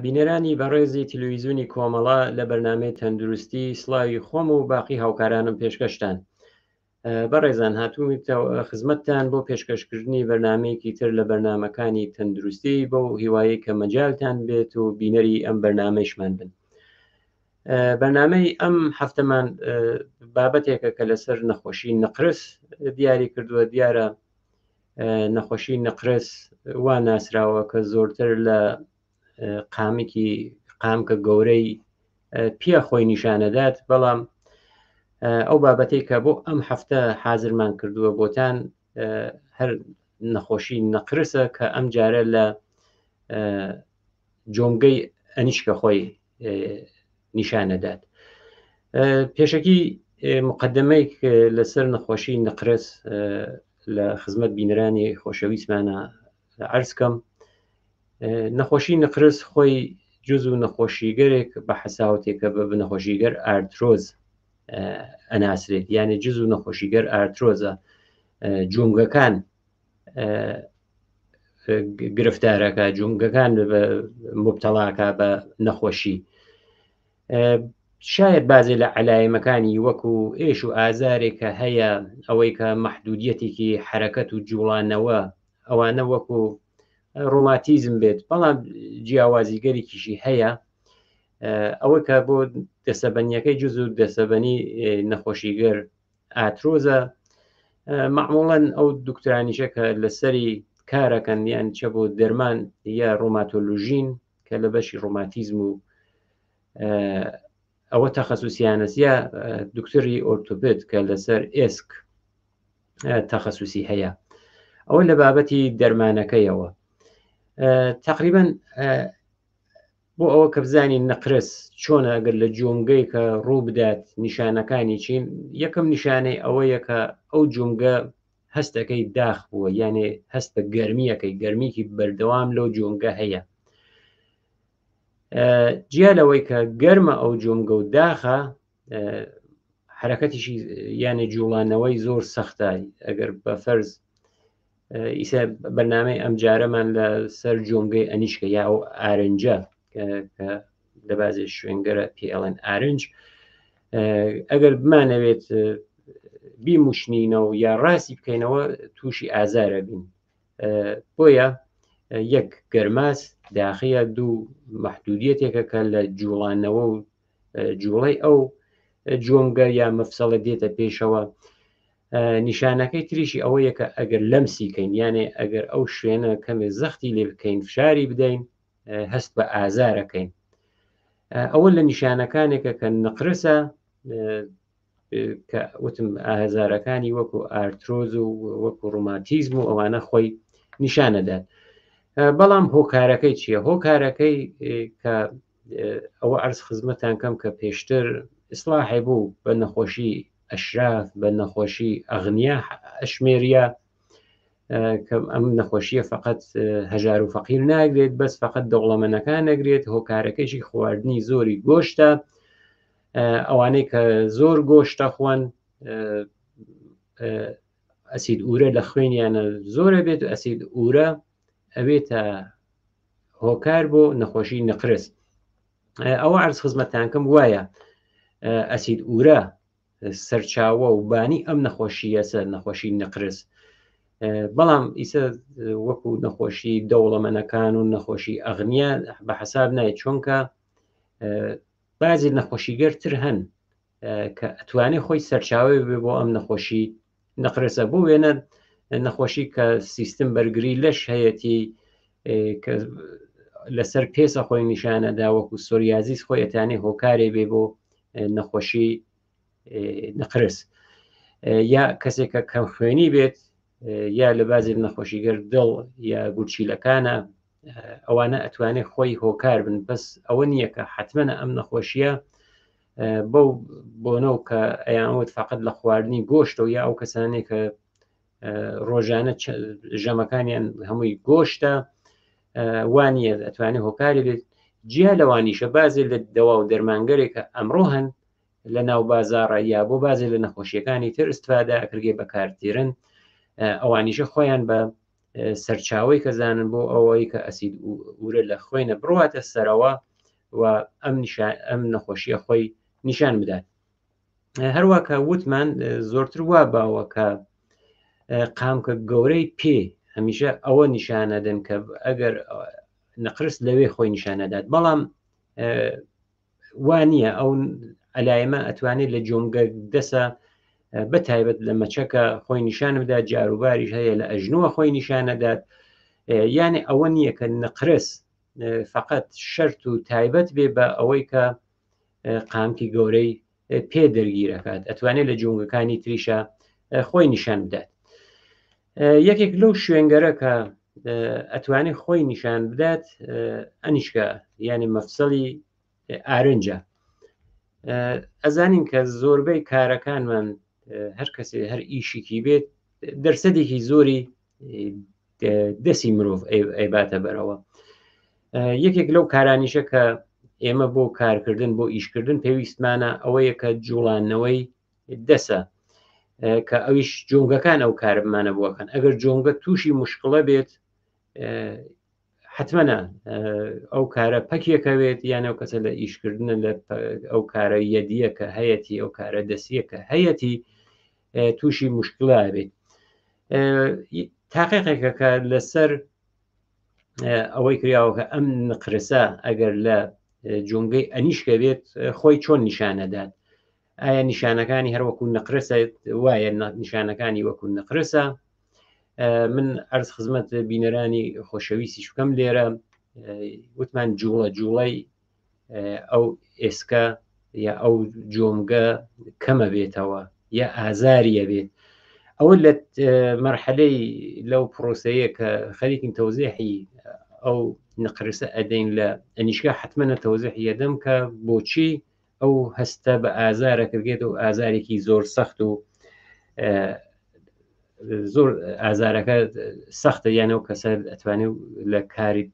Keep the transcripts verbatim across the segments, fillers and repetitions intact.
بینەرانی بەڕێزی تلویزیۆنی کۆمەڵە لە بەرنامەی تەندروستی سڵاوی خۆم و باقی هاوکارانم پێشکەشتان. بەڕێزان هاتوومەتەوە خزمەتتان بۆ پێشکەشکردنی بەرنامەیەکی تر لە بەرنامەکانی تەندروستی بەو هیوایەی کە مەجالتان بێت و بینەری ئەم بەرنامەیشمان بن. بەرنامەی ئەم هەفتەمان بابەتێکە کە لەسەر نەخۆشی نەقرس دیاری کردووە. دیارە نەخۆشی نەقرس وا ناسراوە کە زۆرتر لە قامکی قامکە گەورەی پێ خۆی نیشانەدات، بەڵام ئەو بابەتێک کە بۆ ئەم هەفتە حازرمان کردووە بۆتان هەر نەخۆشی نەقرسە کە ئەم جارە لە جۆمگەی ئەنیشکە خۆی نیشانەدات. پێشەکی مقدمەیەک لەسەر نەخۆشی نەقرس لە خزمەت بینەرانی خۆشەویستمانە عەرز کەم. نەخۆشی نەقرس خۆی جز و نەخۆشیگەرێک بە حەساوتێکە بە نەخۆشیگەر ئارترۆز ئەناسرێت، یعنی جز و نەخۆشیگەر ئارترۆزە جومگەکان گرفتارەکە، جومگەکان مبتەڵاکە بە نەخۆشی. شاید بازێ لە عەلایمەکانی وەکو ئێش و ئازارێکە هەیە، ئەوەی کە مەحدودیەتێکی حرەکەت و جوڵانەوە ئەوانە وەکو ڕۆماتیزم بێت، بەڵام جیاوازیگەرێکیشی هەیە. ئەوە کە بۆ دەسەبەنیەکەی جز و دەسەبەنی نەخۆشیگەر ئاترۆزە، معموڵەن ئەو دکتۆرانیشە کە لەسەری کارەکەن یان چە بۆ دەرمان یا ڕۆماتۆلۆژین کە لە بەشی ڕۆماتیزم و ئەوە تەخەسوسیانەس، یا دکتۆری ئۆرتۆپد کە لەسەر ئێسک تەخەسوسی هەیە. ئەوە لە بابەتی دەرمانەکەیەوە. تقریبا بۆ ئەوە کە بزانین نەقرس چۆنە ئەگەر لە جومگەی کە ڕوو بدات نیشانەکانی چین، یەکەم نیشانەی ئەوەیە کە ئەو جومگە هەستەکەی داخ بووە، یانێ هەست بە گەرمیەکەی، گەرمیکی بەردەوام لەو جومگە هەیە. جیا لەوەی کە گەرمە ئەو جومگە و داخە، حرەکەتیشی یانێ جوڵانەوەی زۆر سەختە. ئەگەر بە فەرز ئیسا بەرنامەی ئەم جارەمان لە سەر جۆمگەی ئەنیشکە یا ئەو ئارنجە کە لە بازێ شوێنگەرە پێ ئەڵێن ئارنج، ئەگەر بمانەوێت بیموشنینەوە یا ڕاستی بکەینەوە تووشی ئازارە بین. بۆیە یەک گەرماس داخیە، دوو مەحدودیەتێکە کە لە جوڵانەوە و جوڵەی ئەو جۆمگە یا مەفسەڵە دێتە پێشەوە. نیشانەکەی تریشی ئەوەیە کە ئەگەر لەمسی کەین، یانێ ئەگەر ئەو شوێنە کەمێ زەختی لێ بکەین، فشاری بدەین، هەست بە ئازارەکەین. ئەوە لە نیشانەکانێکە کە نەقرسە کە وتم ئازارەکانی وەکو ئارترۆز و وەکو ڕۆماتیزم و ئەوانە خۆی نیشانەدات. بەڵام هۆکارەکەی چییە؟ هۆکارەکەی کە ئەوە عەرز خزمەتان کەم کە پێشتر ئیسلاحی بوو بە نەخۆشی ئەشراف، بە نەخۆشی ئەغنیا ئەشمێریا، کە ئەم نەخۆشیە فقط هەژار و فەقیر ناگرێت، بەس فقط دەوڵەمەنەکان نەگرێت. هۆکارەکەیشی خواردنی زۆری گۆشتە، ئەوانەی کە زۆر گۆشتە خوان ئەسید ئورە لە خوێنیانە زۆرە بێت و ئەسید ئورە ئەوێتە هۆکار بۆ نەخۆشی نەقرس. ئەوە عەرز خزمەتتان کەم وایە ئەسید ئورە سەرچاوە و بانی ئەم نەخۆشیەسە، نەخۆشی نەقرس. بەڵام ئیسە وەکو نەخۆشی دەوڵەمەنەکان و نەخۆشی ئەغنیا بە حەساب نایە، چونکە بازی نەخۆشیگەرتر هەن کە ئەتوانێت خۆی سەرچاوەی بێ بۆ ئەم نەخۆشی نەقرسە. بۆ وێنە نەخۆشی کە سیستم بەرگری لەش هەیەتی کە لەسەر پێسە خۆی نیشانەدا، وەکو سۆریازیس خۆی ئەتانێ هۆکارێ بێ بۆ نەخۆشی نەقرس. یا کەسێک کە کەم خوێنی بێت، یا لە بازێک نەخۆشیگەر دڵ یا گورچیلەکانە، ئەوانە ئەتوانێت خۆی هۆکار بن. بەس ئەوە نییە کە حتممە ئەم نەخۆشیە بەو بۆنەو کە ئەیانوت فقط لە خواردنی گۆشتەوە یا ئەو کەسانێک کە ڕۆژانە ژەمەکانیان هەمووی گۆشتە وانە ئەتوانێت هۆکاری بێت. جیا لەوانیشە بازێ لە دەوا و دەرمانگەرێک کە ئەمڕۆ هەن لە ناو بازاڕە یا بۆ بازێ لە نەخۆشیەکانی تر استفادە ئەکرگێ بەکارتێرن، ئەوانیشە خۆیان بە سەرچاوی کە زانن بۆ ئەوەی کە ئەسید ئورە لە خوێنە بڕواتە سەرەوە و ئەم ئەم نەخۆشیە خۆی نیشان بدات. هەروە کە وتمان زۆرتر وا باوە کە قامکە گەورەی پێ هەمیشە ئەوە نیشانەدەن کە ئەگەر نەقرس لەوێ خۆی نیشانەدات، بەڵام وا نییە. ئەو ئەلایمە ئەتوانێت لە جۆمگە دەسە بە تایبەت لە مەچەکە خۆی نیشان بدات، جاروباریش هەیە لە ئەژنووە خۆی نیشانەدات. یعنی ئەوە نییە کە نەقرس فقط شەرت و تایبەت بێ بە ئەوەی کە قامکی گەورەی پێ دەرگیرەکات، ئەتوانێت لە جۆنگەکانی تریشە خۆی نیشان بدات. یەکێک لەو شوێنگەرە کە ئەتوانێت خۆی نیشان بدات ئەنیشکە، یعنی مەفسەڵی ئارنجە. ئەزانین کە زۆربەی کارەکانمان هەر کەسێ هەر ئیشێکی بێت دەرسەدێکی زۆری دەستی مرۆڤ ئەیباتە بەرەوە. یەکێک لەو کارانیشە کە ئێمە بۆ کارکردن بۆ ئیشکردن پێویستمانە ئەوەیە کە جوڵانەوەی دەسە، کە ئەویش جۆنگەکان ئەو کارمانە بووەکەن. ئەگەر جۆنگە تووشی مشکڵە بێت حتممە ئەو کارە پەکیەکەوێت، یان ئەو کەسە لە ئیشکردنە لە ئەو کارە یەدیە کە هەیەتی، ئەو کارە دەسیە کە هەیەتی تووشی مشکلە بێت. تاقیقێکە کە لەسەر ئەوەی کراوە کە ئەم نقرسە ئەگەر لە جۆنگەی ئەنیشکە بێت خۆی چۆن نیشانەدات. ئایا نیشانەکانی هەر وەکو نقرسە وایە نیشانەکانی وەکو نقرسە؟ من ئەرز خزمەت بینەرانی خۆشەویستیش بکەم لێرە وتمان جوڵە جوڵەی ئەو ئێسکە یا ئەو جۆمگە کەمە بێتەوە یا ئازاریە بێت. ئەوە لە مەرحەلەی لەو پرۆسەیە کە خەریکین تەوزیحی ئەو نقرسە ئەدەین لە ئەنیشکا، حتممە تەوزیحی یەدەم کە بۆچی ئەو هەستە بە ئازارە کردێت و ئازارێکی زۆر سەخت و زۆر ئازارەکە سەختە، یان ئەو کەسە ئەتوانێت لە کاری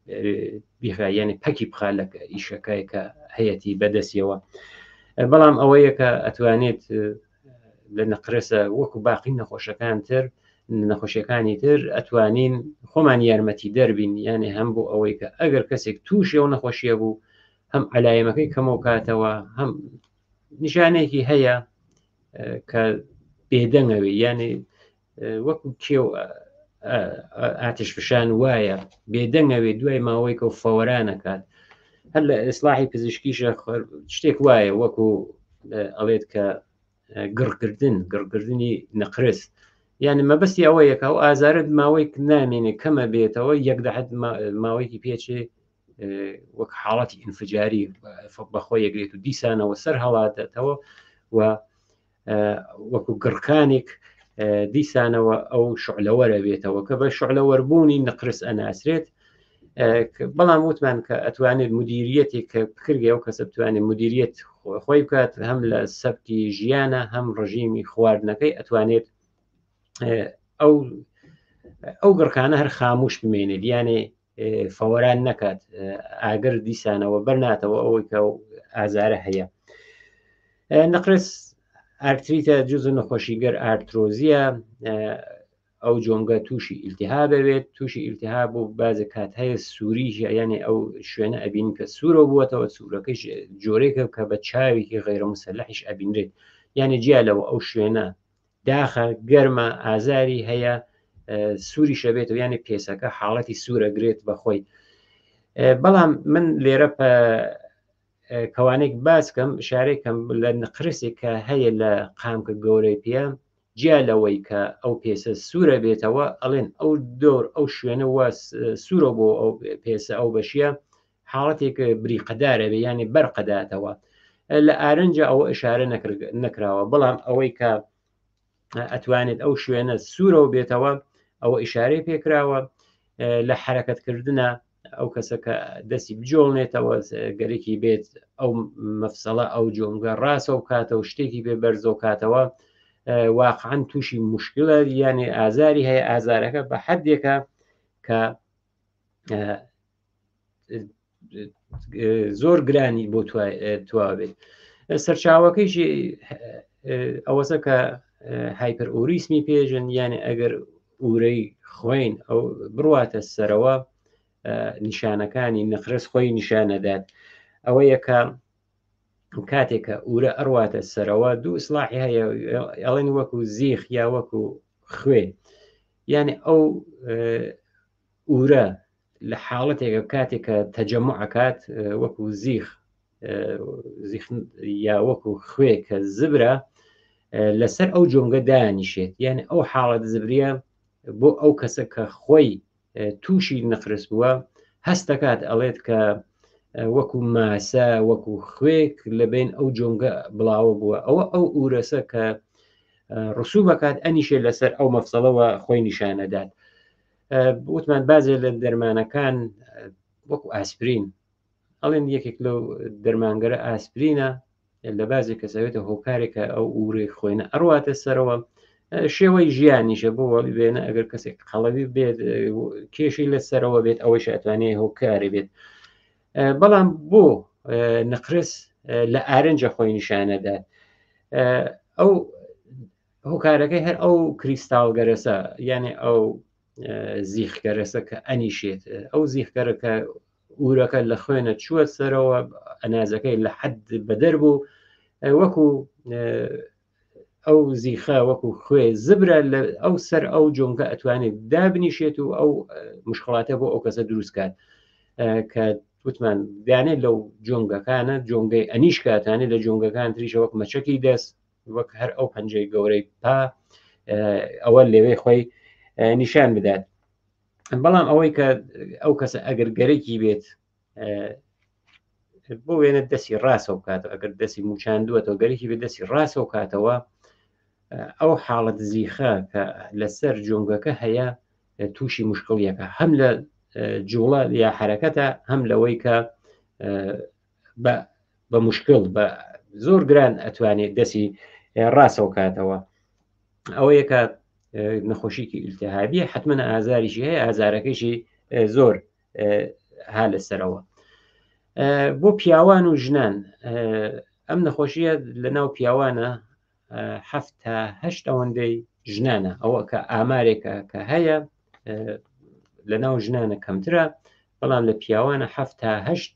بیخا، یعنی پەکی بخا لە ئیشەکەی کە هەیەتی بەدەستیەوە. بەڵام ئەوەیە کە ئەتوانێت لە نەقرسە وەکو باقی نەخۆشەکان تر نەخۆشیەکانی تر ئەتوانین خۆمان یارمەتی دەربین، یعنی هەم بۆ ئەوەی کە ئەگەر کەسێک تووشی ئەو نەخۆشیە بوو هەم عەلایەمەکەی کەمەو کاتەوە، هەم نیشانێکی هەیە کە بێدەنگەوێ، یعنی وەکو کێو ئاتش فشان وایە بێدەنگەوێ دوای ماوەیەکە و فەوەرانەکات. هەر لە ئیسلاحی پزیشکیشە شتێک وایە وەکو ئەڵێت کە گڕکردن، گڕکردنی نەقرس، یعنی مەبەستی ئەوەیە کە ئەو ئازارت ماوەیەک نامێنێ کەمە بێتەوە، یەک دەحەت ماوەیەکی پێچێ وەک حاڵەتی ئینفجاری بەخۆی یەگرێت و دیسانەوە سەر هەڵاتێتەوە و وەکو گڕکانێک دیسانەوە ئەو شعلەوەرە بێتەوە کە بە شعلەوەربوونی نەقرس ئەناسرێت. بەڵام وتمان کە ئەتوانێت مدیریەتێک کە بکرگێ ئەو کەسە بتوانێت مدیریەت خۆی بکات، هەم لە سەبکی ژیانە هەم ڕژیمی خواردنەکەی ئەتوانێت ئەو ئەو گڕکانە هەر خاموش بمێنێت، یانێ فەوەران نەکات، ئاگر دیسانەوە بەرناتەوە ئەوەی کە ئازارە هەیە. نەقرس ئارتریتە جزء نەخۆشیگەر ئارترۆزیە، ئەو جۆنگە تووشی ئیلتیهابە بێت، تووشی ئیلتیهاب و بازێک کات هەیە سووریش، یعنی ئەو شوێنە ئەبین کە سوورە بووەتەوە، سوورەکەش جۆرێکە کە بە چاوێکی غەیرە مسەلحیش ئەبینرێت، یعنی جیا لەوە ئەو شوێنە داخە گەرمە ئازاری هەیە سووریشە بێتەوە، یعنی پێسەکە حاڵەتی سوورە گرێت بەخۆی. بەڵام من لێرە کەوانێک باس کەم شارێکم لە نقرسێک کە هەیە لە قامکە گەورەی پێ، جیا لەوەی کە ئەو پێسە سوورە بێتەوە، ئەڵێن ئەو دۆر ئەو شوێنە وا سوورە بۆ ئەو پێسە ئەو بەشیە حاڵەتێک بریقەدارە بێ، یعنی بەرقەداتەوە. لە ئارنجە ئەوە ئشارە نەکراوە، بەڵام ئەوەی کە ئەتوانێت ئەو شوێنە سوورەوە بێتەوە ئەوە ئشارەی پێکراوە. لە حرەکەتکردنە ئەو کەسە کە دەستی بجۆڵنێتەوە گەرێکی بێت ئەو مەفسەڵە ئەو جۆنگە ڕاستەوە بکاتەوە، شتێکی پێ بەرزەوە کاتەوە، واقعا تووشی مشکلە، یعنی ئازاری هەیە، ئازارەکە بە حدێکە کە زۆر گرانی بۆ توا بێت. سەرچاوەکەیشی ئەوەسە کە هایپەر ئۆریسمی پێژن، یعنی ئەگەر ئورەی خوێن ئەو بڕواتە سەرەوە نیشانەکانی نقرس خۆی نیشانەدات. ئەوە یەکە کاتێک کە ئورە ئەڕواتە سەرەوە دوو ئیسلاحی هەیە، ئەڵێن وەکو زیخ یا وەکو خوێ. یعنی ئەو ئورە لە حاڵەتێکە کاتێک کە تەجەموع ئەکات وەکو زیخ زیخ یا وەکو خوێ کە زبرە لەسەر ئەو جۆنگە دانیشێت. یعنی ئەو حاڵەت زبریە بۆ ئەو کەسە کە خۆی تووشی نقرس بووە هەستەکات ئەڵێت کە وەکو ماسە وەکو خوێک لەبین ئەو جۆنگە بڵاوە بووە. ئەوە ئەو ئورەسە کە ڕسوبەکات ئەنیشێ لەسەر ئەو مەفسەڵەوە خۆی نیشانەدات. وتمان بازێ لە دەرمانەکان وەکو ئاسپرین، ئەڵێن یەکێک لەو دەرمانگەرە ئاسپرینە لە بازێک کەسەوێتە هۆکارێکە ئەو ئورەی خوێنە ئەڕواتە سەرەوە. شێوەی ژیانیشە بۆ بێنە ئەگەر کەسێک قەڵەوی بێت کێشی لەسەرەوە بێت ئەوەیش ئەتوانێت هۆکاری بێت. بەڵام بۆ نقرس لە ئارنجە خۆی نیشانەدات. ئەو هۆکارەکەی هەر ئەو کریستاڵگەرەسە، یعنی ئەو زیخگەرەسە کە ئەنیشێت. ئەو زیخگەرە کە ئورەکە لە خوێنە چووە سەرەوە، ئەنازەکەی لە حەد بەدەر بوو، وەکو ئەو زیخە وەکو خوێ زبرە لە ئەو سەر ئەو جۆنگە ئەتوانێت دابنیشێت و ئەو مشکڵاتە بۆ ئەو کەسە دروست کات کە وتمان دانێت لەو جۆنگەکانە، جۆنگەی ئەنیشکاتانێت لە جۆنگەکان تریشە وەک مەچەکی دەست، وەک هەر ئەو پەنجەی گەورەی پا ئەوە لێوەی خۆی نیشان بدات. بەڵام ئەوەی کە ئەو کەسە ئەگەر گەرەکی بێت بۆ وێنە دەستی ڕاستەوە بکاتەوە، ئەگەر دەستی موچاندووەتەوە گەرەکی بێت دەستی ڕاستەوە بکاتەوە، ئەو حاڵەت زیخە کە لەسەر جۆنگەکە هەیە تووشی مشکڵیەکە، هەم لە جوڵە یا حرەکەتە، هەم لەوەی کە بە مشکل بە زۆر گران ئەتوانێت دەستی ڕاستەوە کاتەوە. ئەوەیە کە نەخۆشیکی ئیلتیهابیە حتمما ئازاریشی هەیە، ئازارەکەیشی زۆر ها لەسەرەوە. بۆ پیاوان و ژنان ئەم نەخۆشیە لەناو پیاوانە هەفت تا هەشت ئەوەندەی ژنانە، ئەوە کە ئامارێکە کە هەیە لەناو ژنانە کەمترە، بەڵام لە پیاوانە هەفت تا هەشت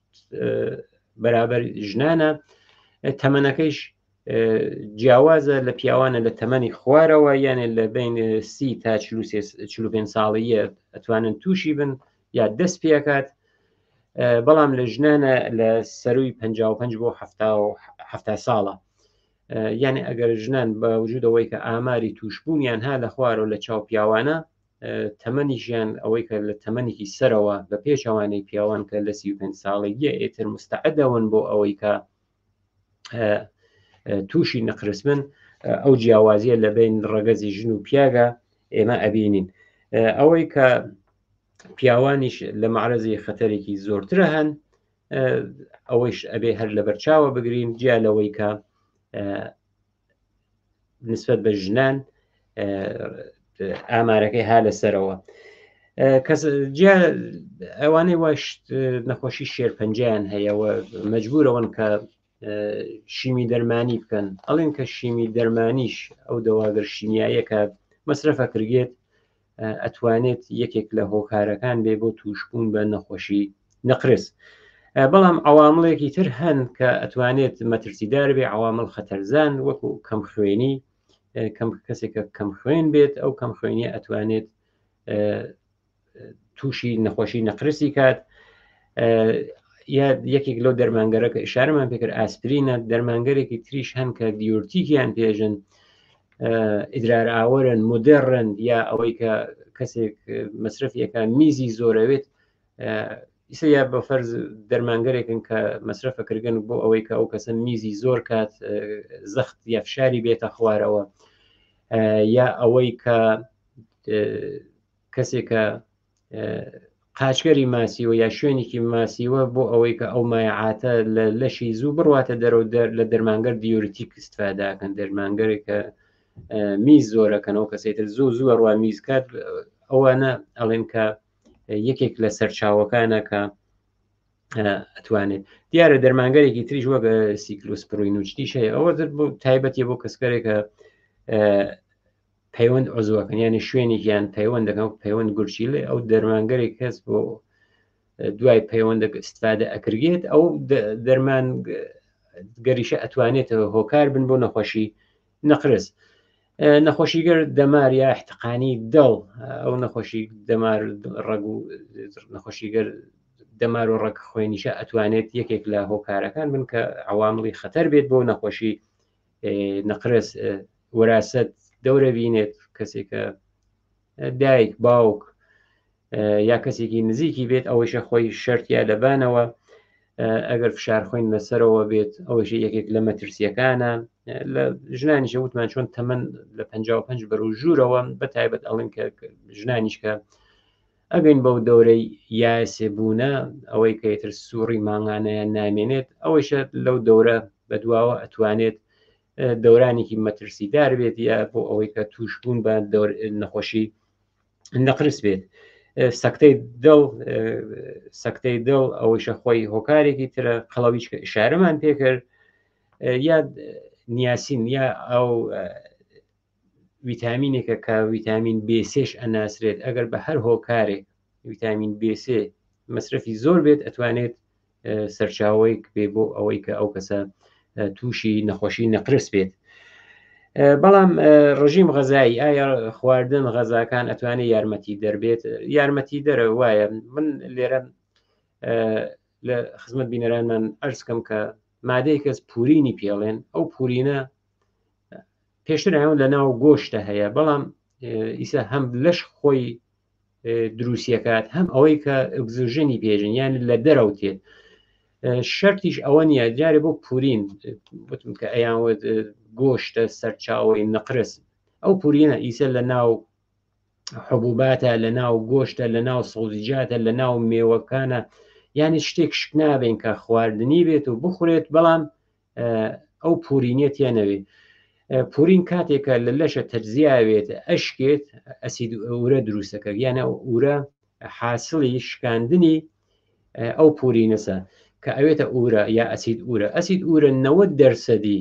بەرابەر ژنانە. تەمەنەکەیش جیاوازە لە پیاوانە لە تەمەنی خوارەوە، یانێ لە بین سی تا چل و پێنج ساڵیە ئەتوانن تووشی بن یا دەست پێکات، بەڵام لە ژنانە لە سەروی پەنجا و پەنج بۆ حەفتا ساڵە. یعنی ئەگەر ژنان بە وجودەوەی کە ئاماری توشببوونیان ها لە خوارەوە لە چاو پیاوانە، تەمەنیشیان ئەوەی کە لە تەمەنێکی سەرەوە بە پێچەوانەی پیاوان کە لە سی و پێنج ساڵێگیە ئێتر مستعدەون بۆ ئەوەی کە تووشی نەقرس بن، ئەو جیاوازیە لە بین ڕەگەزی ژن و پیاگە ئێمە ئەبینین. ئەوەی کە پیاوانیش لە معرەزی خەتەرێکی زۆرترە هەن، ئەوەیش ئەبێ هەر لەبەرچاوە بگرین، جیا لەوەی کە نسبەت بە ژنان ئامارەکەی ها لەسەرەوە. کەس جیا ئەوانەی واش نەخۆشی شێرپەنجەیان هەیە و مەجبورەوەن کە شیمی دەرمانی بکەن، ئەڵێن کە شیمی دەرمانیش ئەو دەواگەر شیمیاییە کە مەسرەفە کردێت ئەتوانێت یەکێک لە هۆکارەکان بێ بۆ توشببوون بە نەخۆشی نەقرس. بەڵام عوامڵێکی تر هەن کە ئەتوانێت مەترسیدار بێ، عوامل خەتەرزان وەکو کەمخوێنی، کەم کەسێکە کەمخوێن بێت ئەو کەمخوێنیە ئەتوانێت تووشی نەخۆشی نەقرسی کات. یا یەکێک لەو دەرمانگەرە کە ئشارەمان پێکرد ئاسپرینە، دەرمانگەرێکی تریش هەن کە دیورتیکیان پێژن، ئیدرار ئاوەرن، مدرن، یا ئەوەی کە کەسێک مەصرفیەکە میزی زۆرەوێت، ئیسە یا بە فەرز دەرمانگەرێکن کە مەصرفەکردن بۆ ئەوەی کە ئەو کەسە میزی زۆر کات زەخت یا فشاری بێتە خوارەوە، یا ئەوەی کە کەسێکە قاچگەری ماسیوە یا شوێنێکی ماسیوە بۆ ئەوەی کە ئەو مایعاتە لە لەشی زوو بڕواتە دەرەوە لە دەرمانگەر دیورتیک استفاداکەن، دەرمانگەرێک کە میز زۆرەکەنەوە کەسێتر زوو زوو ڕوا میز کات، ئەوانە ئەڵێن کە یەکێک لە سەرچاوەکانە کە ئەتوانێت. دیارە دەرمانگەرێکی تریش وەک سیکلۆسپرۆین و شتیش هەیە، ئەوە تایبەتیە بۆ کەسکەرێکە پەیوەند عزوەکەن، یعنی شوێنێکیان پەیوەند دەکەن، پەیوەند گورچیلە، ئەو دەرمانگەرێک کەس بۆ دوای پەیوەندەکە استفادە ئەکرێت، ئەو دەرمان گەریشە ئەتوانێتەوە هۆکار بن بۆ نەخۆشی نەقرس. نەخۆشیگەر دەمار یا احتقانی دڵ، ئەو نەخۆشی دەمار ڕەگ و نەخۆشیگەر دەمار و ڕەگ خوێنیشە ئەتوانێت یەکێک لە هۆکارەکان بن کە عواملی خەتەر بێت بۆ نەخۆشی نەقرس. وەراست دەورە بینێت، کەسێکە دایک باوک یا کەسێکی نزیکی بێت، ئەوەیشە خۆی شەرتیا لەبانەوە. ئەگەر فشار خوێن لەسەرەوە بێت، ئەوەیشە یەکێک لە مەترسیەکانە. لە ژنانیشە وتمان چۆن تەمەن لە پەنجا و پەنج بەرەو ژوورەوە، بە تایبەت ئەڵێن کە ژنانیش کە ئەگەین بەو دەورەی یاسێ بوونە، ئەوەی کە ئیتر سووڕی مانگانەیان نامێنێت، ئەوەیشە لەو دەورە بەدواوە ئەتوانێت دەورانێکی مەترسیدار بێت یا بۆ ئەوەی کە توشبوون بە نەخۆشی نەقرس بێت. سەکتەی دڵ، سەکتەی دڵ ئەوەیشە خۆی هۆکارێکی ترە، قەڵەویش کە ئشارەمان پێکرد، یا نیاسین یا ئەو ویتامینێکە کە ویتامین بی سێش ئەناسرێت، ئەگەر بە هەر هۆکارێک ویتامین بی سێ مەصرفی زۆر بێت، ئەتوانێت سەرچاوەیەک بێ بۆ ئەوەی کە ئەو کەسە تووشی نەخۆشی نەقرس بێت. بەڵام ڕژیم غەزایی، ئایا خواردن غەزاکان ئەتوانێت یارمەتی دەربێت؟ یارمەتی دەرە وایە. من لێرە لە خزمەت بینەرانمان ئەرزکەم کە مادەی کەس پورینی پێڵێن، ئەو پورینە پێشتر ئەوە لە ناو گۆشتە هەیە، بەڵام ئیسا هەم لەش خۆی دروستیەکات، هەم ئەوەی کە ئۆکسجێنی پێژن، یان لە دەرەوە تێت. شەرتیش ئەوە نییە جارێ بۆ پورین وتم کە ئەیانوت گۆشتە سەرچاوەی نەقرس، ئەو پورینە ئیسە لە ناو حبوباتە، لە ناو گۆشتە، لە ناو سەوزیجاتە، لە ناو مێوەکانە، یعنی شتێک شک نابین کە خواردنی بێت و بخورێت، بەڵام ئەو پورینیە تێنەوێت. پورین کاتێکە لە لەشە تەجزیاوێت، ئەشکێت، ئەسید ئورە دروستەکە، یانە ئورە حاصلی شکاندنی ئەو پورینەسە کە ئەوێتە ئورە یا ئەسید ئورە. ئەسید ئورە نەوەد دەرسەدی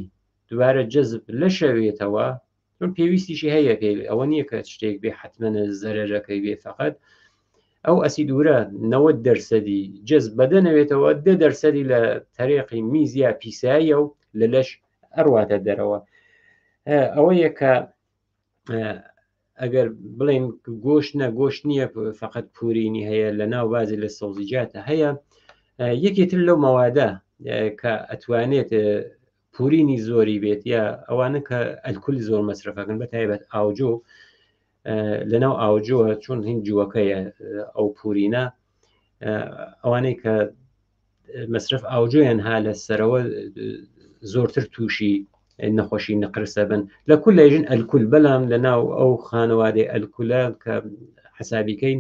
دووبارە جەزب لەشەوێتەوە، چون پێویستیشی هەیە پێ، ئەوە نییە کە شتێک بێ حتممە زەرەرەکەی بێ، فقط ئەو ئەسید ئورە نەوەد دەرسەدی جەزب بەدەنەوێتەوە، دە دەرسەدی لە تەرێقی میز یا پیساییە و لە لەش ئەڕواتە دەرەوە. ئەوەیە کە ئەگەر بڵێن گۆشت نە، گۆشت نییە فقط پورینی هەیە، لە ناو بازی لە سەوزیجاتە هەیە. یەکێتر لەو مەوادە کە ئەتوانێت پورینی زۆری بێت، یا ئەوانە کە ئەلکول زۆر مەصرفەکەن، بە تایبەت ئاوجۆ، لەناو ئاوجۆ چۆن هین جووەکەیە ئەو پورینە، ئەوانەی کە مەصرف ئاوجۆیان ها لە سەرەوە زۆرتر تووشی نەخۆشی نەقرسە بن. لە کول لەژن ئەلکول، بەڵام لە ناو ئەو خانەوادەی ئەلکولە کە حسابیکەین،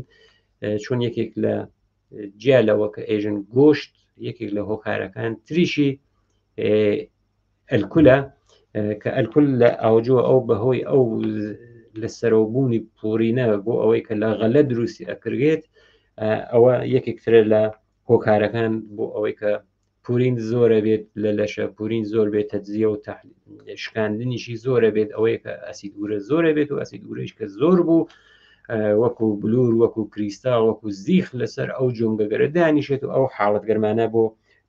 چۆن یەکێک لە جیا لەوە کە ئێژن گۆشت یەکێک لە هۆکارەکان تریشی ئەلکولە، کە ئەلکول لە ئاوجۆ ئەو بەهۆی ئەو لە سەرەوبوونی پورینە بۆ ئەوەی کە لە غەلە دروستی ئەکرێت، ئەوە یەکێک ترە لە هۆکارەکان بۆ ئەوەی کە پورین زۆرە بێت لە لەشە، پورین زۆر بێت تەجزیە و شکاندنیشی زۆرە بێت، ئەوەیە کە ئەسید ئورە زۆرە بێت و ئەسید ئورەیش کە زۆر بوو وەکو بلور، وەکو کریستال، وەکو زیخ لەسەر ئەو جۆنگەگەرە دانیشێت و ئەو حاڵەت گەرمانە بۆ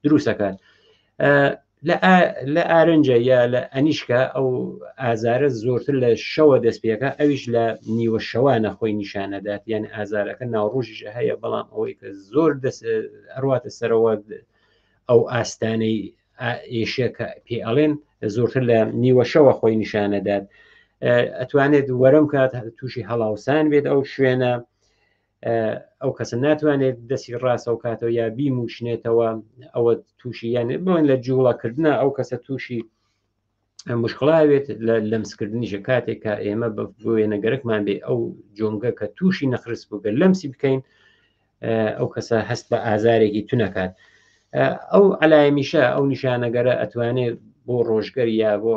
دروستەکات. لە ئارنجە یا لە ئەنیشکا ئەو ئازارە زۆرتر لە شەوە دەست پێەکە، ئەویش لە نیوە شەوانە خۆی نیشانەدات، یان ئازارەکە ناوڕۆژیش هەیە، بەڵام ئەوەی کە زۆر دەست ئەڕواتە سەرەوە ئەو ئاستانەی ئێشە کە پێ ئەڵێن زۆرتر لە نیوەشەوە خۆی نیشانەدات. ئەتوانێت وەرەم کات تووشی هەڵاوسان بێت ئەو شوێنە، ئەو کەسە ناتوانێت دەستی ڕاستەو کاتەوە یا بیموشنێتەوە، ئەوە تووشی یان بڵێن لە جوڵەکردنە ئەو کەسە تووشی مشکڵاوێت لە لەمسکردنیشە. کاتێک کە ئێمە بۆ وێنەگەرەکمان بێ ئەو جۆنگە کە تووشی نەخرس بووگە لەمسی بکەین، ئەو کەسە هەست بە ئازارێکی تونەکات. ئەو علایمیشە ئەو نیشانەگەرە ئەتوانێت بۆ ڕۆژگەر یا بۆ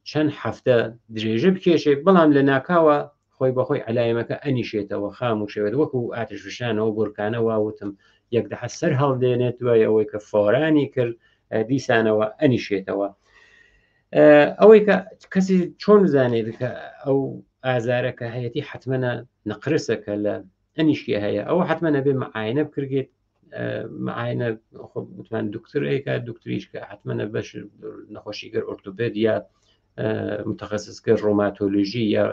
چەند هەفتە درێژە بکێشێت، بەڵام لە ناکاوە خۆی بەخۆی علایمەکە ئەنیشێتەوە، خاموشەوێت، وەکو ئاتش فشانەوە بورکانەوە وتم یەک دەحە سەر هەڵدێنێت دوای ئەوەی کە فۆرانی کرد دیسانەوە ئەنیشێتەوە. ئەوەی کە کەسی چۆن بزانێت کە ئەو ئازارەکە هەیەی حتممە نەقرسەکە لە ئەنیشکی هەیە، ئەوە حتممە نەبێ معاینە بکرێت. معاینە وتمان دکتۆرێکە، دکتۆریش کە حتممە بەش نەخۆشیگەر ئۆرتۆپێد یا متخصصکە ڕۆماتۆلۆژی یا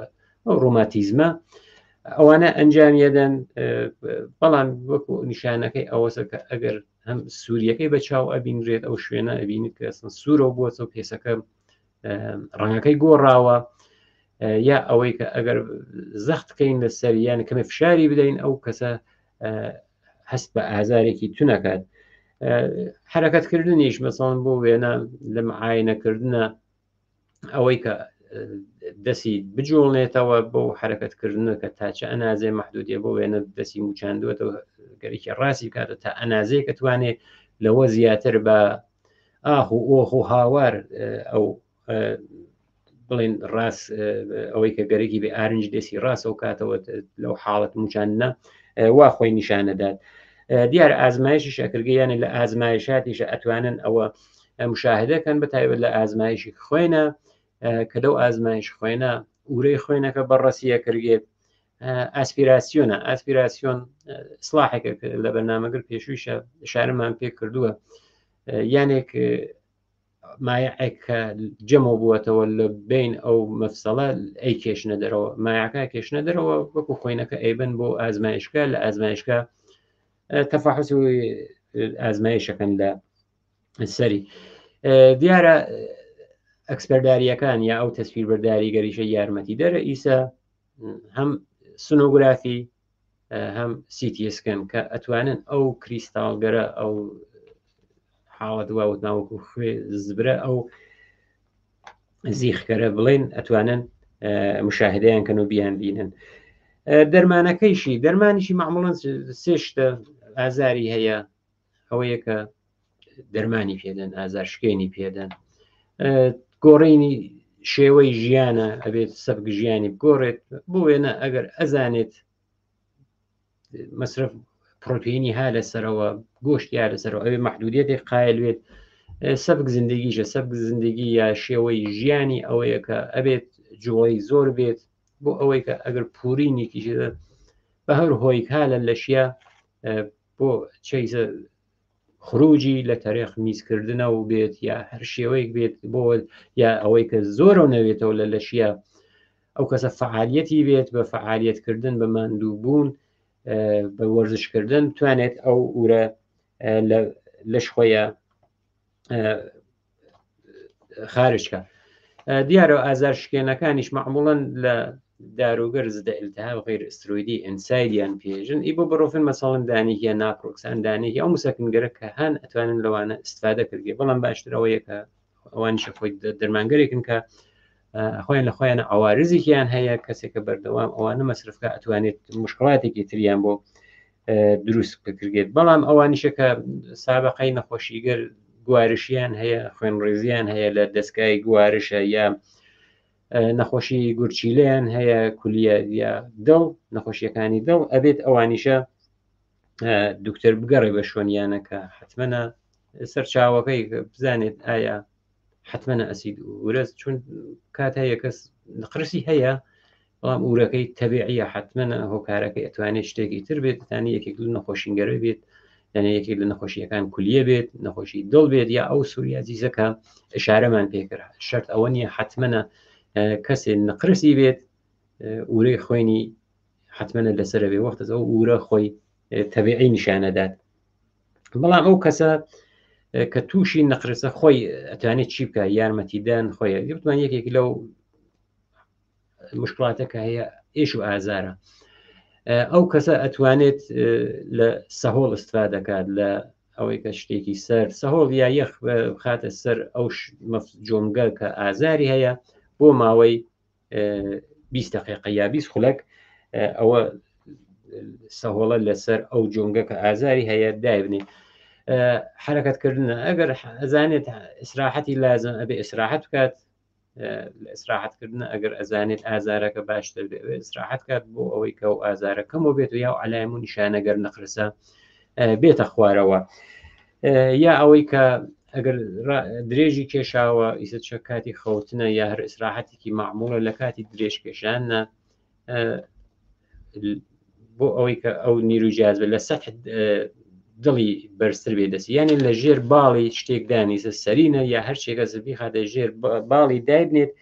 ڕۆماتیزمە، ئەوانە ئەنجامیەدەن. بەڵام وەکو نیشانەکەی ئەوەسە کە ئەگەر هەم سووریەکەی بە چاو ئەبینرێت، ئەو شوێنە ئەبینیت کە ئەسڵەن سوورەوە بووەتەوە، پێسەکە ڕەنگەکەی گۆڕاوە، یا ئەوەی کە ئەگەر زەخت بکەین لەسەر یان کەمێ فشاری بدەین ئەو کەسە هەست بە ئازارێکی تونەکات. حرەکەتکردنیش مەسەڵەن بۆ وێنە لە معاینەکردنە ئەوەی کە دەسی بجوڵنێتەوە بۆ حرەکەتکردنە کە تا چه ئەنازێ مەحدودیە، بۆ وێنە دەسی موچاندووەتەوە گەرێکی ڕاستی بکاتەوە تا ئەنازەیە کە توانێت لەوە زیاتر بە ئاخ و ئۆخ و هاوار ئەو بڵێن ڕاست ئەوەی کە گەرەکی بێ ئارنج دەسی ڕاستەوە کاتەوە لەو حاڵەت موچاندنە وا خۆی نیشانەدات. دیار ئازمایشی شەکرگەیانە لە ئازمایشاتیشە ئەتوانن ئەوە مشاهدەکەن، بە تایبەت لە ئازمایشی خوێنە کە لەو ئازمایش خوێنە ورەی خوێنەکە بەڕەسیە کردێت. ئاسپیراسیۆنە، ئاسپیراسیۆن سلاحێکە لە بەرنامەگر پێشوویشە شارمان پێ کردووە، یانێک مایعێک کە جەمەوە بووەتەوە لە بین ئەو مەفسەڵە ئەی کێشنە دەرەوە، مایعەکە کێشنە دەرەوە وەکو خوێنەکە ئەیبن بۆ ئازمایشکە، لە ئازمایشکە تەفاحوس و ئازمایشەکەن لە سەری. دیارە ئەکسپەرداریەکان یا ئەو تەسویربەرداری گەریشە یارمەتی دەرە ئیسا هەم سونۆگرافی هەم سیتی سکەن کە ئەتوانن ئەو کریستاڵگەرە ئەو حاڵەت واوت ناوەکو خوێ زبرە ئەو زیخکەرە بڵێن ئەتوانن مشاهدەیان کەن و بیان بینن. دەرمانەکەیشی دەرمانیشی معموڵەن سێ شتە ئازاری هەیە، ئەوەیە کە دەرمانی پێدەن، ئازار شکێنی پێدەن، گۆڕینی شێوەی ژیانە، ئەبێت سەبک ژیانی بگۆڕێت. بۆ وێنە ئەگەر ئەزانێت مەصرف پرۆتئینی ها لەسەرەوە، گۆشتی ها لەسەرەوە، ئەوێ مەحدودیەتێک قایل بێت. سەبک زندگیشە، سەبک زندگی یا شێوەی ژیانی ئەوەیە کە ئەبێت جوڵەی زۆر بێت، بۆ ئەوەی کە ئەگەر پورینێکیش بە هەر هۆیک ها لە لەشیە بۆ چەیزە خروجی لە تەرێخ میزکردنەوە بێت یا هەر شێوەیەک بێت، بۆ یا ئەوەی کە زۆرەوە نەوێتەوە لە لەشیە ئەو کەسە فعالیەتی بێت، بە فعالیەتکردن بە ماندووبوون بە وەرزشکردن توانێت ئەو ئورە لە لەش خۆیە خارجکە. دیارە ئازار شکێنەکانیش معموڵەن لە داروگەر زدە التهاب غیر استرویدی ئینسایدیان پێژن، ئی بۆ بڕۆفن مەسەڵەن دانێکیە ناپرۆکسان دانێکی ئەو مسەکنگەرە کە هەن ئەتوانن لەوانە استفادە کردێ. بەڵام باشتر ئەوەیە کە ئەوانیشە خۆی دەرمانگەرێکن کە خۆیان لە خۆیانە ئاوارزێکیان هەیە، کەسێکە بەردەوام ئەوانە مەصرفکە ئەتوانێت مشکلاتێکی تریان بۆ دروست بکرێت. بەڵام ئەوانیشە کە سابقەی نەخۆشیگەر گوارشیان هەیە، خوێنڕێزیان هەیە لە دەستگای گوارشە یا نەخۆشی گورچیلەیان هەیە، کولیە یا دڵ، نەخۆشیەکانی دڵ، ئەبێت ئەوانیشە دکتۆر بگەڕێ بە شوێنیانە کە حتممە سەرچاوەکەی بزانێت ئایا حتممە ئەسید ورەز، چون کات هەیە کەس نقرسی هەیە بەڵام ئورەکەی تەبیعیە، حتممە هۆکارەکەی ئەتوانێت شتێکی تر بێت، تانی یەکێک لە نەخۆشینگەرە بێت، یعنی یەکێک لە نەخۆشیەکان کولیە بێت، نەخۆشی دڵ بێت، یا ئەو سوریازیزەکە ئشارەمان پێکرد. شرط ئەوە نییە حتممە کەسێ نقرسی بێت ئورەی خوێنی حتممە لەسەر بێ، وەختە ئەو ئورە خۆی تەبیعی نیشانەدات. بەڵام ئەو کەسە کە تووشی نەقرسە خۆی ئەتوانێت چی بکە، یارمەتیدان خۆی بتوان یەکێک لەو مشکلاتەکە هەیە ئێش و ئازارە، ئەو کەسە ئەتوانێت لە سەهۆڵ استفادەکات، لە ئەوەی کە شتێکی سەر سەهۆڵ یا یەخ بخاتە سەر ئەو جۆمگە کە ئازاری هەیە بۆ ماوەی بیست دقیقە یا بیست خولەک، ئەوە سەهۆڵە لەسەر ئەو جۆنگە کە ئازاری هەیە دایبنێ. حرەکەتکردنە، ئەگەر ئەزانێت ئیسراحەتی لازم ئەبێ ئیسراحەت بکات، ئیسراحەتکردنە ئەگەر ئەزانێت ئازارەکە باشتر بێ ئیسراحەت کات بۆ ئەوەی کە ئەو ئازارەکەمەوە بێت و یا عەلایم و نیشانەگەر نەقرسە بێتە خوارەوە، یا ئەوەی کە ئەگەر درێژی کێشاوە ئیسە چە کاتی خەوتنە یا هەر ئیسراحەتێکی مەعموڵە لە کاتی درێژ کێشانە بۆ ئەوەی کە ئەو نیرو جازبە لە سەح دڵی بەرزتر بێ دەستی، یعنی لە ژێر باڵی شتێک دانیسە سەرینە یا هەر شتێکە زبی خاتە ژێر باڵی دایبنێت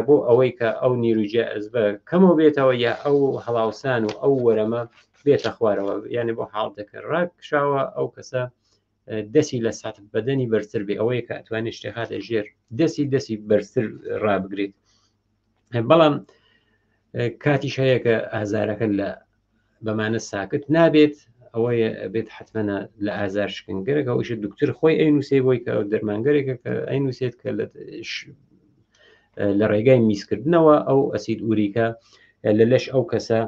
بۆ ئەوەی کە ئەو نیرو جازبە کەمەوە بێتەوە یا ئەو هەڵاوسان و ئەو وەرەمە بێتە خوارەوە، یعنی بۆ حاڵتەکە ڕاکشاوە ئەو کەسە دەستی لە سات بەدەنی بەرزتر بێ، ئەوەیە کە ئەتوانێت شتێک خاتە ژێر دەستی دەستی بەرزتر ڕابگرێت. بەڵام کاتیش هەیە کە ئازارەکە لە بەمانە ساکت نابێت، ئەوەیە بێت حتممە لە ئازار شکنگەرێک، ئەوەیشە دکتۆر خۆی ئەینووسێ بۆی کە دەرمانگەرێکە کە ئەینووسێت کە لە ڕێگای میزکردنەوە ئەو ئەسید ئوریکە لە لەش ئەو کەسە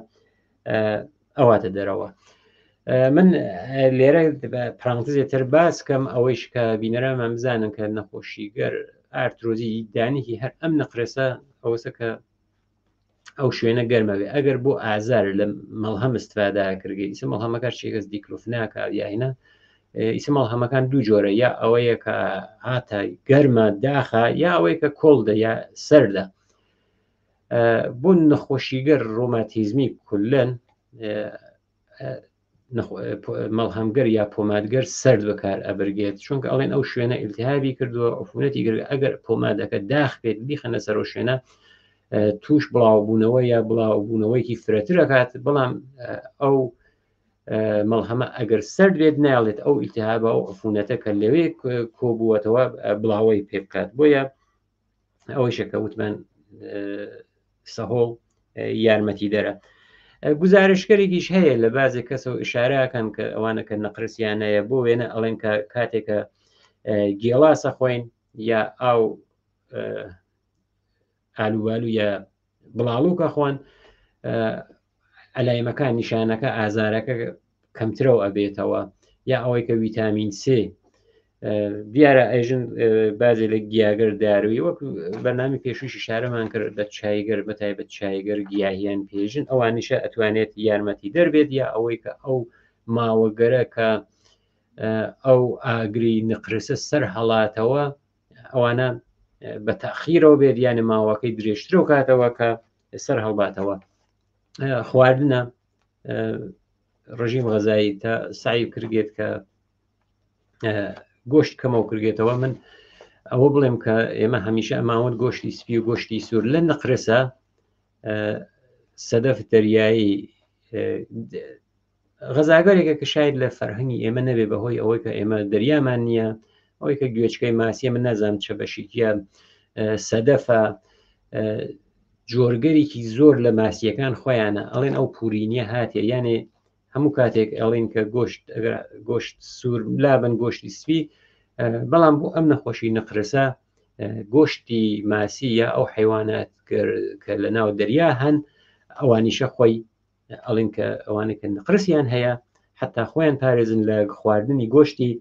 ئەواتە دەرەوە. من لێرە پرانتزێتر باس کەم ئەوەیش کە بینەرانمان بزانن کە نەخۆشیگەر ئارترۆزی دانیکی هەر ئەم نەقرسە ئەوەسە کە ئەو شوێنە گەرمە بێ. ئەگەر بۆ ئازار لە مەڵهەم استفادا کردگەی، ئیسە مەڵهەمەکە شێکەس دیکلۆفناکە یاهینا، ئیسە مەڵهەمەکان دوو جۆرە، یا ئەوەیە کە هاتە گەرمە داخە یا ئەوەیە کە کۆڵدە یا سەردە. بۆ نەخۆشیگەر ڕۆماتیزمی کولەن مەڵهەمگەر یا پۆمادگەر سرد بەکار ئەبرگێت، چونکە ئەڵێن ئەو شوێنە ئیلتیهابی کردووە عفونەتی گرت، ئەگەر پۆمادەکە داخ بێت بیخەنە سەر ئەو شوێنە توش بڵاوبوونەوە یا بڵاوبوونەوەیکی فرەتر ئەکات. بەڵام ئەو مەڵهەمە ئەگەر سرد بێت ناڵێت ئەو ئیلتیهابە ئەو عفونەتە کە لەوێ کۆبووەتەوە بڵاوەی پێ بکات. بۆیە ئەوەیشە کە وتمان سەهۆڵ یارمەتی دەرە. گزارشکەرێکیش هەیە لە بازێک کەسەوە ئشارەکەن کە ئەوانە کە نەقرسیانەیە، بۆ وێنە ئەڵێن کە کاتێکە گێڵاسە خۆین یا ئاو ئالوبالو یا بڵاڵوکە خوان، ئەلایمەکان نیشانەکە ئازارەکە کەمترەوە ئەبێتەوە، یا ئەوەی کە ویتامین سێ دیارە ئێژن بازێ لە گیاگەر داروی وەک بەرنامی پێشووشی شارەمان کرد لە چایگەر بە تایبەت چایگەر گیاهیان پێژن، ئەوانیشە ئەتوانێت یارمەتی دەربێت، یا ئەوەی کە ئەو ماوەگەرە کە ئەو ئاگری نقرسە سەر هەڵاتەوە ئەوانە بە تاخیرەوە بێت، یانە ماوەکەی درێژترەوە کاتەوە کە سەر هەڵباتەوە. خواردنە ڕژیم غەزایی تا سعی کردێت کە گۆشت کەمەوە کردێتەوە. من ئەوە بڵێم کە ئێمە هەمیشە ئەماوت گۆشتی سپی و گۆشتی سوور لە نەقرسە سەدەف دەریایی غەزاگەرێکە کە شاید لە فەرهەنگی ئێمە نەبێ بەهۆی ئەوەی کە ئێمە دەریامان نییە، ئەوەی کە گوێچکەی ماسیە من نازانم چە بەشێکیە سەدەفە جۆرگەرێکی زۆر لە ماسیەکان خۆیانە ئەڵێن ئەو پورینیە هاتیە، یانێ هەموو کاتێک ئەڵێن کە گۆشت ئەگەر گۆشت سوور لابن گۆشتی سپی، بەڵام بۆ ئەم نەخۆشی نەقرسە گۆشتی ماسی یا ئەو حیوانات کە لە ناو دەریا هەن ئەوانیشە خۆی ئەڵێن کە ئەوانە کە نەقرسیان هەیە حتا خۆیان پارێزن لە خواردنی گۆشتی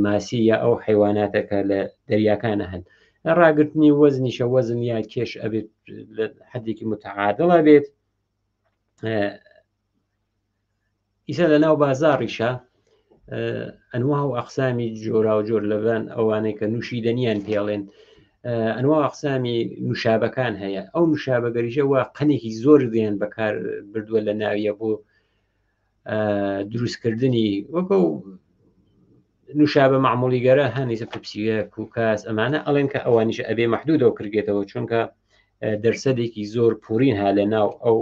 ماسی یا ئەو حیواناتە کە لە دەریاکانە هەن. ڕاگرتنی وەزنیشە وەزن یا کێش ئەبێت لە حدێکی متعادڵە بێت. ئیسا لە ناو بازاڕیشە ئەنوا و ئەقسامی جۆرا و جۆر لەبان ئەوانەی کە نووشیدەنیان پێڵێن ئەنوا ئەقسامی نوشابەکان هەیە. ئەو نوشابەگەریشە وا قەنێکی زۆر دێن بەکار بردووە لە ناویە بۆ دروستکردنی وەکو نوشابە معمولیگەرە هەنیسە پپسیە کوکاس ئەمانە ئەڵێن کە ئەوانیش ئەبێ مەحدودەوە کردێتەوە، چونکە دەرسەدێکی زۆر پورین ها لە ناو ئەو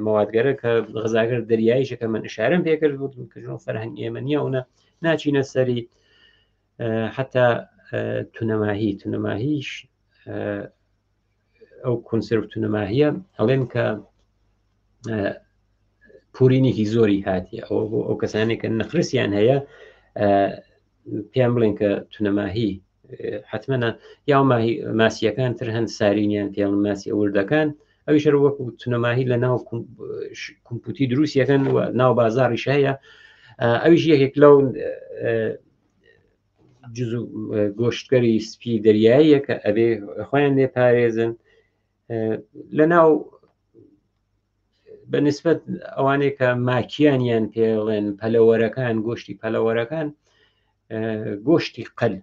موادگەرە کە غەزاگەر دەریاییشە کە من ئشارەم پێکرد بوو کە ژۆن فەرهەنگ ئێمە نییە ئەوە ناچینە سەری. حتا تونەماهی تونەماهیش ئەو کۆنسێرڤ تونەماهیە ئەڵێن کە پورینێکی زۆری هاتیە. ئەوە بۆ ئەو کەسانێک کە نەقرسیان هەیە پێیان بڵێن کە تونەماهی حتممە یا ماسیەکان تر هەن سارینیان پێڵن ماسی ئەوردەکان، ئەویش هەر وەکو تونەماهی لە ناو کۆمپوتی دروستیەکەن و ناو بازاڕیش هەیە. ئەویش یەکێک لەو جز گۆشتگەری سپی دەریاییە کە ئەبێ خۆیان لێ پارێزن. لە ناو بەنسبەت ئەوانەیە کە ماکیانیان پێڵێن پەلەوەرەکان، گۆشتی پەلەوەرەکان، گۆشتی قەل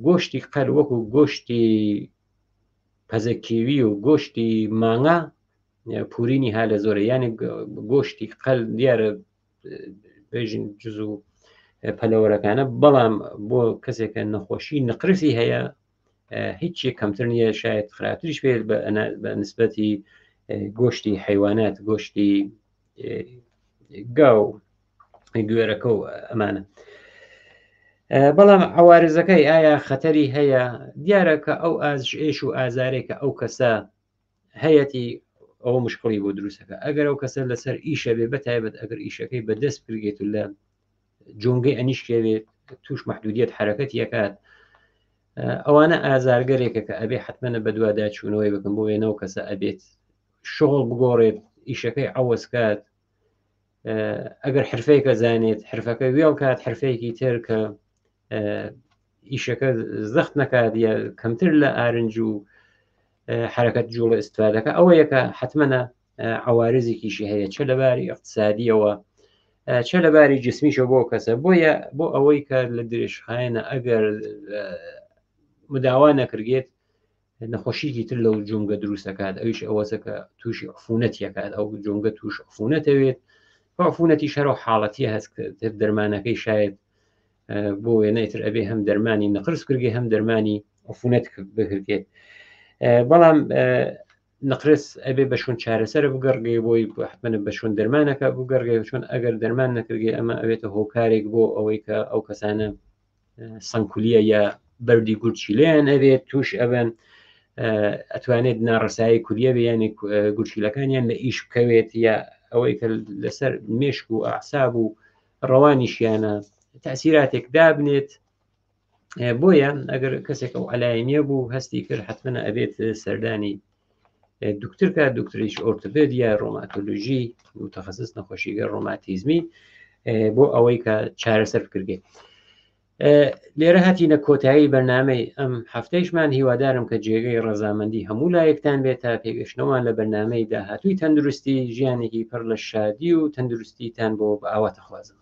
گۆشتی قەل وەکو گۆشتی پەزەکیوی و گۆشتی مانگا پورینی ها لە زۆرە، یعنی گۆشتی قەل دیارە بێژین جز و پەلەوەرەکانە، بەڵام بۆ کەسێکە نەخۆشی نقرسی هەیە هیچ کەمتر نییە، شاید خراپتریش بێت بە نسبەتی گۆشتی حیوانات، گۆشتی گاو گوێرەکە و ئەمانە. بەڵام عوارزەکەی ئایا خەتەری هەیە؟ دیارە کە ئەو ئازش ئێش و ئازارێکە ئەو کەسە هەیەتی ئەوە مشکڵی بۆ دروستەکە. ئەگەر ئەو کەسە لەسەر ئیشە بێ، بەتایبەت ئەگەر ئیشەکەی بەدەست بگێت و لە جۆنگەی ئەنیشکێ بێت توش محدودیت حرەکەت یەکات، ئەوانە ئازارگەرێکە کە ئەبێ حتممە بەدوادا چوونەوەی بکەم بۆ وێنەوە کەسە ئەبێت شغڵ بگۆڕێت، ئیشەکەی عەوەز کات، ئەگەر حرفەیەکە زانێت حرفەکە وێڵ کات، حرفەیەکی تر کە ئیشەکە زەخت نەکات یا کەمتر لە ئارنج و حرەکەت جوڵە ئیسفادەکە، ئەوەیەکە حتممە عوارزێکیشی هەیە چه لەباری اقتصادیەوە چه لەباری جسمیشە بۆ کەسە. بۆیە بۆ ئەوەی کە لە درێژخایەنە ئەگەر مداوا نەکردێت نەخۆشیکی تر لەو جونگە دروستەکات، ئەویش ئەوەسە کە تووشی عفونەت یەکات، ئەو جونگە تووش عفونەتەوێت. عفونەتی شەر و حاڵەتی هەست تر دەرمانەکەی شاید بۆ وێنەی تر ئەبێ هەم دەرمانی نەقرس کردێ هەم دەرمانی عفونەت بکردێت. بەڵام نقرس ئەبێ بە شوون چارەسەرە بگەڕگێ بۆی حتممە بە شوون دەرمانەکە بگەڕگێ، چۆن ئەگەر دەرمان نەکردێ ئەمە ئەوێتە هۆکارێک بۆ ئەوەی کە ئەو کەسانە سەنکولیە یا بەردی گورچیلەیان ئەبێت توش ئەبن، ئەتوانێت ناڕسایی کولیە بێ، یعنی گورچیلەکانیان لە ئیش بکەوێت، یا ئەوەی کە لەسەر مێشک و ئەعساب و ڕەوانیشیانە تەسیراتێک دابنێت. بۆیە ئەگەر کەسێک ئەو عەلایمیە بوو هەستی کرد حتممە ئەبێت سەردانی دکتۆر کە دکتۆریش ئۆرتۆپێد یا ڕۆماتۆلۆژی متخصص نەخۆشیگە ڕۆماتیزمی بۆ ئەوەی کە چارەسەر بکردێت. لێرە هاتینە کۆتایی بەرنامەی ئەم هەفتەیشمان. هیوادارم کە جێگەی ڕەزامەندی هەموو لایەکتان بێت تا پێگەشتنەوەمان لە بەرنامەی داهاتووی تەندروستی ژیانێکی پڕ لە شادی و تەندروستیتان بۆ بە ئاواتە خوازم.